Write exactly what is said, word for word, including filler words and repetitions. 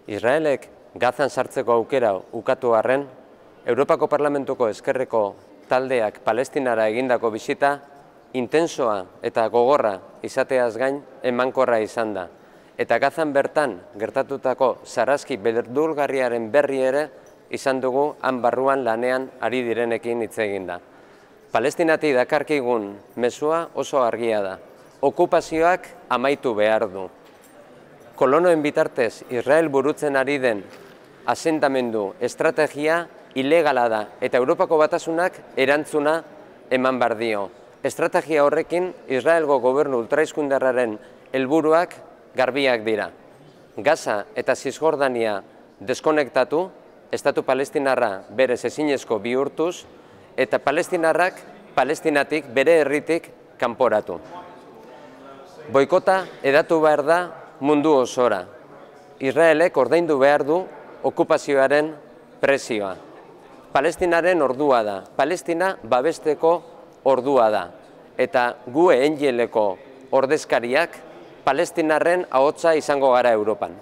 Israelek Gazan sartzeko aukera ukatu arren, Europako Parlamentuko ezkerreko taldeak Palestinara egindako bisita intensoa eta gogorra izateaz gain emankorra izan da. Eta Gazan bertan gertatutako sarraski beldurgarriaren berri ere izan dugu han barruan lanean ari direnekin hitz egin da. Palestinati dakarkigun mezua oso argia da. Okupazioak amaitu behar du. Kolonoen bitartez Israel burutzen ari den asentamendu estrategia ilegala da eta Europako Batasunak erantzuna eman behar dio. Estrategia horrekin Israelgo gobernu ultraizkundarraren helburuak garbiak dira. Gaza eta Zisjordania deskonektatu, estatu palestinarra berez ezinezko bihurtuz, eta palestinarrak Palestinatik bere herritik kanporatu. Boikota hedatu behar da mundu osora. Israelek ordaindu behar du okupazioaren prezioa. Palestinaren ordua da, Palestina babesteko ordua da, eta gu engeleko ordezkariak Palestinarren ahotsa izango gara Europan.